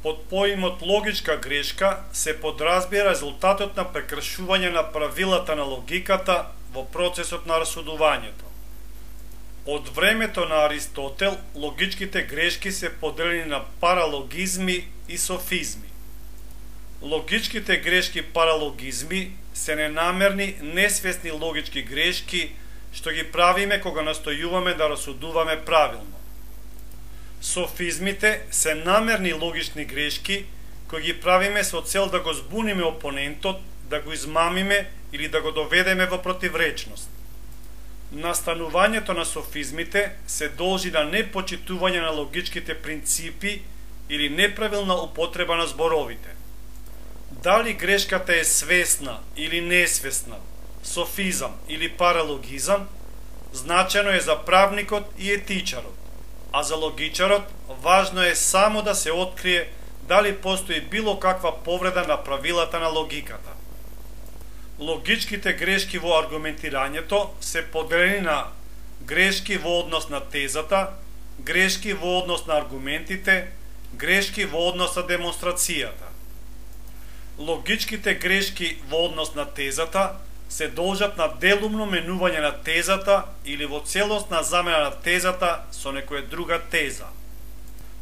Под поимот логичка грешка се подразбира резултатот на прекршување на правилата на логиката во процесот на расудувањето. Од времето на Аристотел, логичките грешки се поделени на паралогизми и софизми. Логичките грешки паралогизми се ненамерни, несвесни логички грешки што ги правиме кога настојуваме да расудуваме правилно. Софизмите се намерни логични грешки кои ги правиме со цел да го збуниме опонентот, да го измамиме или да го доведеме во противречност. Настанувањето на софизмите се должи на непочитување на логичките принципи или неправилна употреба на зборовите. Дали грешката е свесна или несвесна, софизам или паралогизам, значено е за правникот и етичарот, а за логичарот важно е само да се открие дали постои било каква повреда на правилата на логиката. Логичките грешки во аргументирањето се поделени на грешки во однос на тезата, грешки во однос на аргументите, грешки во однос на демонстрацијата. Логичките грешки во однос на тезата се должат на делумно менување на тезата или во целосна замена на тезата со некоја друга теза.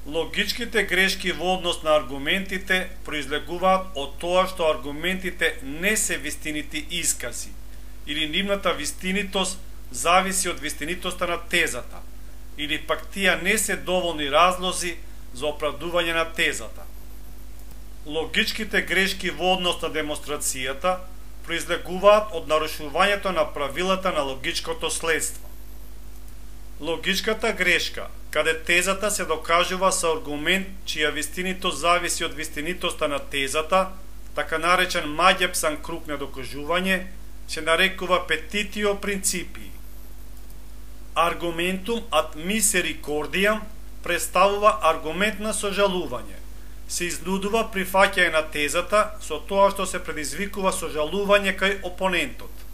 Логичките грешки во однос на аргументите произлегуваат од тоа што аргументите не се вистинити искази или нивната вистинитост зависи од вистинитоста на тезата или пак тие не се доволни разлози за оправдување на тезата. Логичките грешки во однос на демонстрацијата произлегуваат од нарушувањето на правилата на логичкото следство. Логичката грешка, каде тезата се докажува со аргумент чија вистинитост зависи од вистинитоста на тезата, така наречен маѓепсан круг на докажување, се нарекува петитио принципии. Аргументум ad misericordiam представува аргумент на сожалување. Се изнудува прифаќање на тезата со тоа што се предизвикува сожалување кај опонентот.